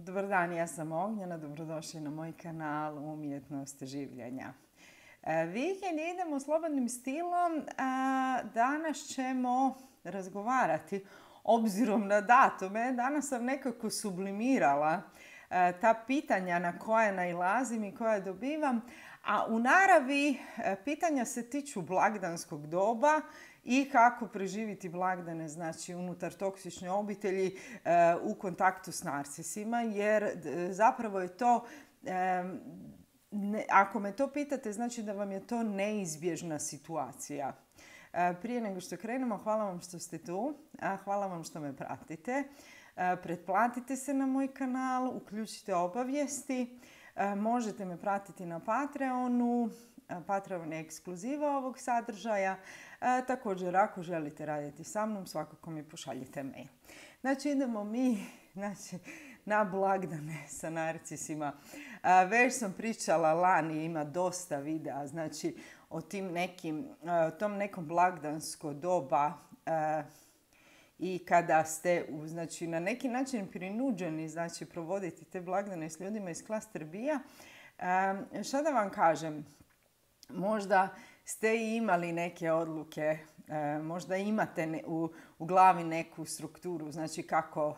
Dobar dan, ja sam Ognjena, dobrodošli na moj kanal Umjetnost življenja. Vikend idemo slobodnim stilom, a danas ćemo razgovarati obzirom na datume. Danas sam nekako sublimirala ta pitanja na koja nailazim i koja dobivam, a u naravi pitanja se tiču blagdanskog doba i kako preživjeti blagdane, znači unutar toksične obitelji u kontaktu s narcisima, jer zapravo je to, ako me to pitate, znači da vam je to neizbježna situacija. Prije nego što krenemo, hvala vam što ste tu, hvala vam što me pratite. Pretplatite se na moj kanal, uključite obavijesti, možete me pratiti na Patreonu. Patreon je ekskluziva ovog sadržaja. Također, ako želite raditi sa mnom, svakako mi pošaljite mail. Znači, idemo mi na blagdane sa narcisima. Već sam pričala lani, ima dosta videa, znači o tom nekom blagdansko doba i kada ste znači, na neki način prinuđeni znači, provoditi te blagdane s ljudima iz klaster B-a. Šta da vam kažem? Možda ste i imali neke odluke, možda imate u glavi neku strukturu, znači kako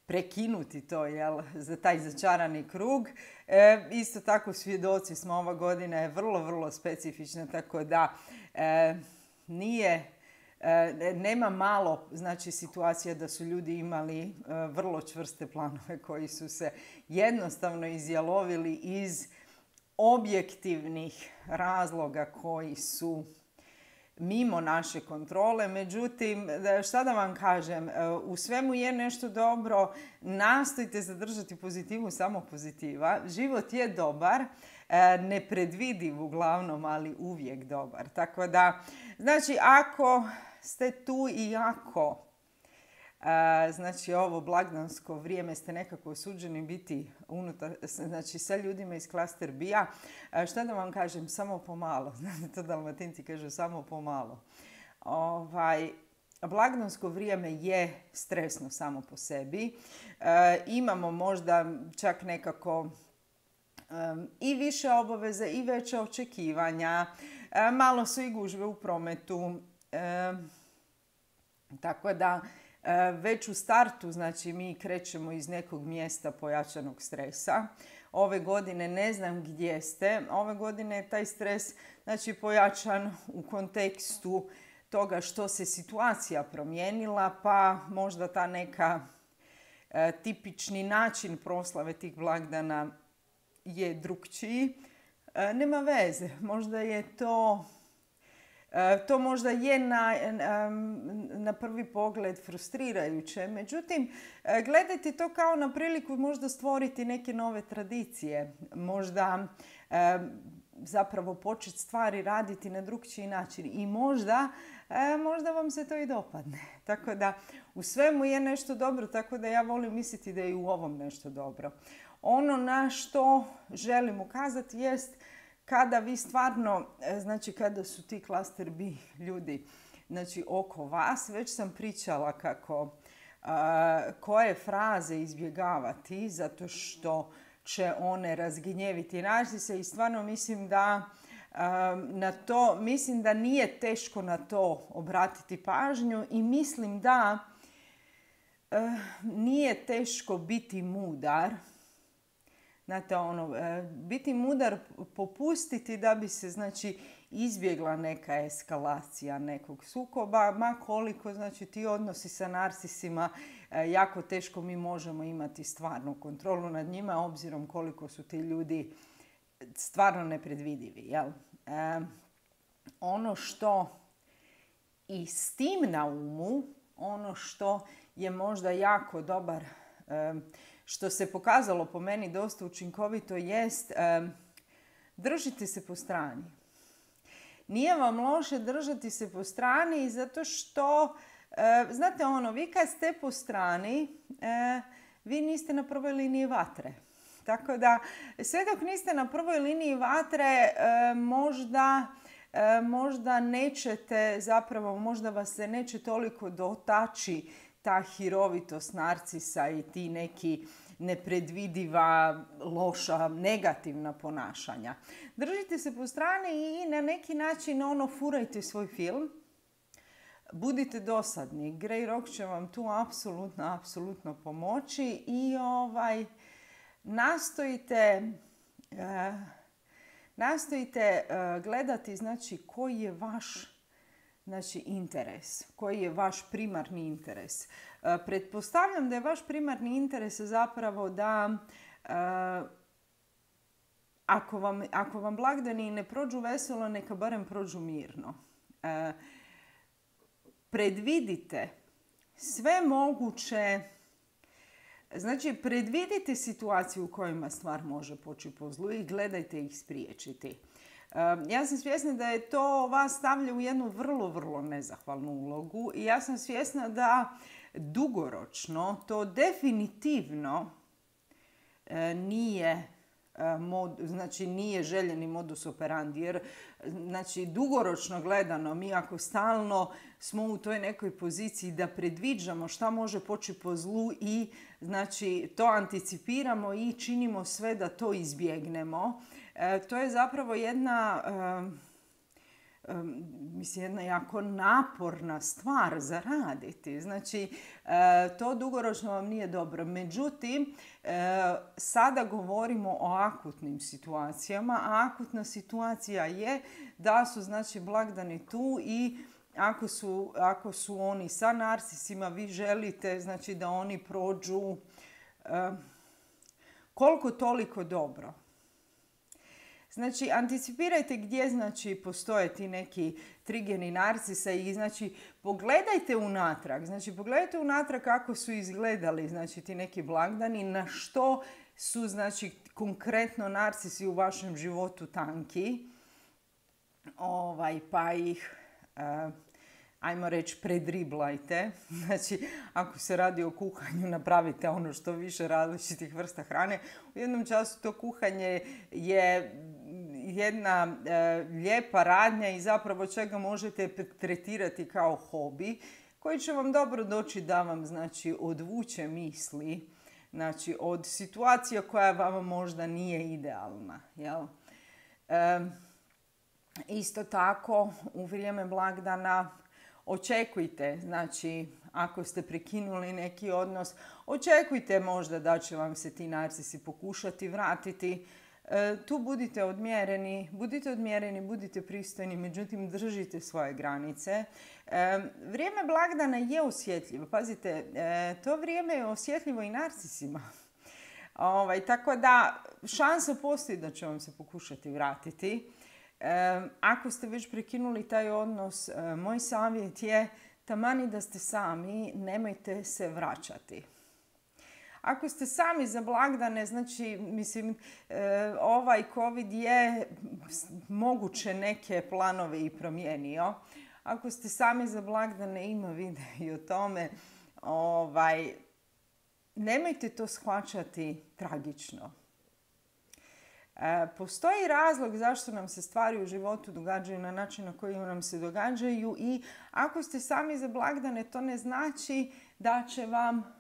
prekinuti to, za taj začarani krug. Isto tako svjedoci smo, ova godina je vrlo specifična, tako da nema malo znači, situacija da su ljudi imali vrlo čvrste planove koji su se jednostavno izjalovili iz objektivnih razloga koji su mimo naše kontrole. Međutim, šta da vam kažem, u svemu je nešto dobro, nastojte zadržati pozitivu, samo pozitiva. Život je dobar, nepredvidiv uglavnom, ali uvijek dobar. Tako da, znači, ako ste tu i ako znači ovo blagdansko vrijeme ste nekako osuđeni biti unutar, znači sa ljudima iz klaster B-a, šta da vam kažem, samo pomalo. Znate, to Dalmatinci kažu samo pomalo. Blagdansko vrijeme je stresno samo po sebi. Imamo možda čak nekako i više obaveze i veće očekivanja. Malo su i gužve u prometu. Tako da već u startu, znači mi krećemo iz nekog mjesta pojačanog stresa. Ove godine ne znam gdje ste. Ove godine je taj stres znači, pojačan u kontekstu toga što se situacija promijenila, pa možda ta neka tipični način proslave tih blagdana je drukčiji. Nema veze, možda je to možda je na prvi pogled frustrirajuće. Međutim, gledajte to kao na priliku možda stvoriti neke nove tradicije. Možda zapravo početi stvari raditi na drukčiji način. I možda vam se to i dopadne. Tako da u svemu je nešto dobro, tako da ja volim misliti da je i u ovom nešto dobro. Ono na što želim ukazati jest kada vi stvarno, znači kada su ti klaster B ljudi znači oko vas, već sam pričala kako koje fraze izbjegavati zato što će one razgnjeviti narcise i stvarno mislim da nije teško na to obratiti pažnju i mislim da nije teško biti mudar. Znate, biti mudar, popustiti da bi se, znači, izbjegla neka eskalacija nekog sukoba, ma koliko, znači, ti odnosi sa narcisima, jako teško mi možemo imati stvarnu kontrolu nad njima, obzirom koliko su ti ljudi stvarno nepredvidivi, jel? Ono što i s tim na umu, ono što je možda jako dobar, što se pokazalo po meni dosta učinkovito jest držite se po strani. Nije vam loše držati se po strani zato što, znate vi kad ste po strani, vi niste na prvoj liniji vatre. Tako da sve dok niste na prvoj liniji vatre možda nećete, zapravo možda vas se neće toliko dotaći ta hirovitost narcisa i ti neki nepredvidiva, loša, negativna ponašanja. Držite se po strani i na neki način furajte svoj film. Budite dosadni. Grey Rock će vam tu apsolutno pomoći i nastojite gledati znači koji je vaš interes, koji je vaš primarni interes. Pretpostavljam da je vaš primarni interes zapravo da ako vam blagdani ne prođu veselo, neka barem prođu mirno. Predvidite sve moguće, znači predvidite situaciju u kojima stvar može poći po zlu i gledajte ih spriječiti. Ja sam svjesna da je to vas stavlja u jednu vrlo nezahvalnu ulogu i ja sam svjesna da dugoročno to definitivno nije željeni modus operandi, jer znači dugoročno gledano mi ako stalno smo u toj nekoj poziciji da predviđamo šta može poći po zlu i znači to anticipiramo i činimo sve da to izbjegnemo, to je zapravo jedna jako naporna stvar za raditi. Znači, to dugoročno vam nije dobro. Međutim, sada govorimo o akutnim situacijama, a akutna situacija je da su znači blagdani tu i ako su oni sa narcisima, vi želite znači da oni prođu koliko toliko dobro. Znači, anticipirajte gdje postoje ti neki trigeri narcisa i pogledajte unatrag kako su izgledali ti neki blagdani, na što su konkretno narcisi u vašem životu tanki, pa ih ajmo reći predriblajte. Znači, ako se radi o kuhanju, napravite što više različitih vrsta hrane. U jednom času to kuhanje je jedna lijepa radnja i zapravo čega možete tretirati kao hobi, koji će vam dobro doći da vam odvuče misli od situacija koja vama možda nije idealna. Jel? Isto tako, u vrijeme blagdana očekujte, ako ste prekinuli neki odnos, očekujte možda da će vam se ti narcisi pokušati vratiti. Tu budite odmjereni, budite pristojni, međutim držite svoje granice. Vrijeme blagdana je osjetljivo. Pazite, to vrijeme je osjetljivo i narcisima. Tako da šansa postoji da će vam se pokušati vratiti. Ako ste već prekinuli taj odnos, moj savjet je taman i da ste sami, nemojte se vraćati. Ako ste sami za blagdane, ovaj COVID je moguće neke planove i promijenio. Ako ste sami za blagdane, ima video i o tome, nemojte to shvaćati tragično. Postoji razlog zašto nam se stvari u životu događaju na način na koji nam se događaju i ako ste sami za blagdane, to ne znači da će vam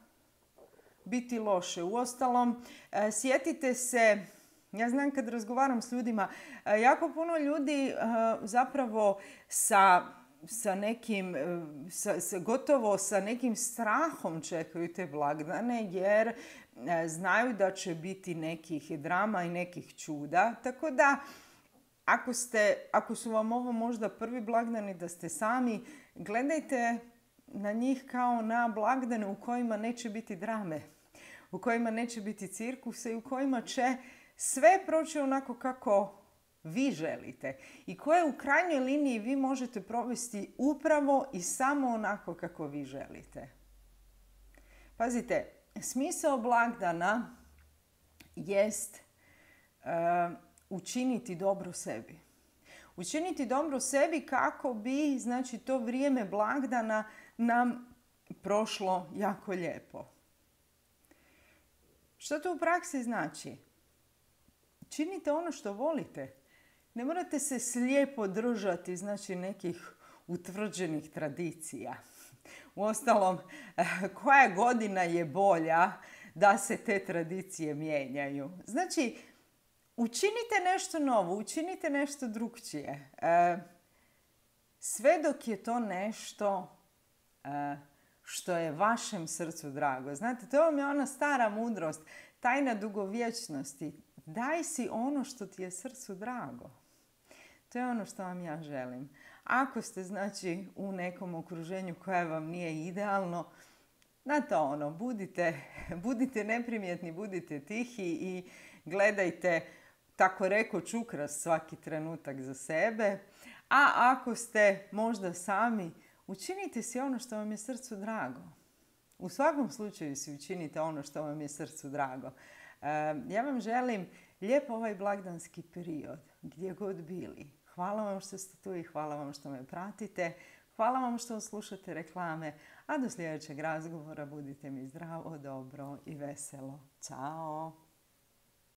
biti loše. Uostalom, sjetite se, ja znam kad razgovaram s ljudima, jako puno ljudi zapravo gotovo sa nekim strahom čekaju te blagdane jer znaju da će biti nekih drama i nekih čuda. Tako da, ako su vam ovo možda prvi blagdani da ste sami, gledajte na njih kao na blagdane u kojima neće biti drame, u kojima neće biti cirkusa i u kojima će sve proći onako kako vi želite i koje u krajnjoj liniji vi možete provesti upravo i samo onako kako vi želite. Pazite, smisao blagdana jest učiniti dobro sebi. Učiniti dobro sebi kako bi, to vrijeme blagdana nam prošlo jako lijepo. Što to u praksi znači? Činite ono što volite. Ne morate se slijepo držati, nekih utvrđenih tradicija. Uostalom, koja godina je bolja da se te tradicije mijenjaju? Znači, učinite nešto novo, učinite nešto drukčije. Sve dok je to nešto što je vašem srcu drago. Znate, to vam je ona stara mudrost, tajna dugovječnosti. Daj si ono što ti je srcu drago. To je ono što vam ja želim. Ako ste, znači, u nekom okruženju koje vam nije idealno, znate ono, budite neprimjetni, budite tihi i gledajte, tako reko, čukras svaki trenutak za sebe. A ako ste možda sami, učinite si ono što vam je srcu drago. U svakom slučaju si učinite ono što vam je srcu drago. Ja vam želim lijep ovaj blagdanski period, gdje god bili. Hvala vam što ste tu i hvala vam što me pratite. Hvala vam što slušate reklame. A do sljedećeg razgovora budite mi zdravo, dobro i veselo. Ćao!